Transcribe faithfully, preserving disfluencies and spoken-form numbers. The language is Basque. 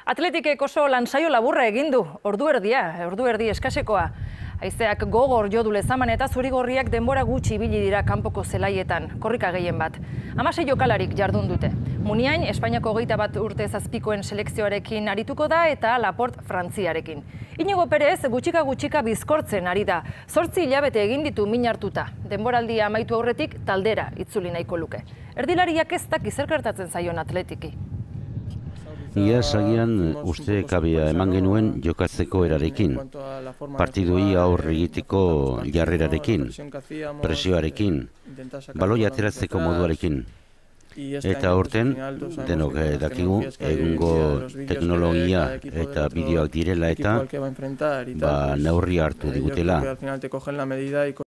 Atletikek oso lansaio laburra egin du, ordu erdia, ordu erdi eskasekoa. Haizeak gogor jo du Lezaman eta zuri-gorriak denbora gutxi ibili dira kanpoko zelaietan, korrika gehien bat. Hamasei jokalarik jardun dute. Muniain, Espainiako hogeita bat urte zazpikoen selekzioarekin arituko da eta Laport Frantziarekin. Inigo Perez gutxika-gutxika bizkortzen ari da. Zortzi hilabete egin ditu min hartuta. Denboraldia amaitu aurretik taldera itzuli nahiko luke. Erdilariak ez dak zer gertatzen zaion Atletiki. Ia zagian uste kabea eman genuen jokatzeko erarekin, partidui aurre egiteko jarrerarekin, presioarekin, baloi ateratzeko moduarekin. Eta aurten, denok dakigu, egungo teknologia eta bideoak direla eta neurri hartu digutela.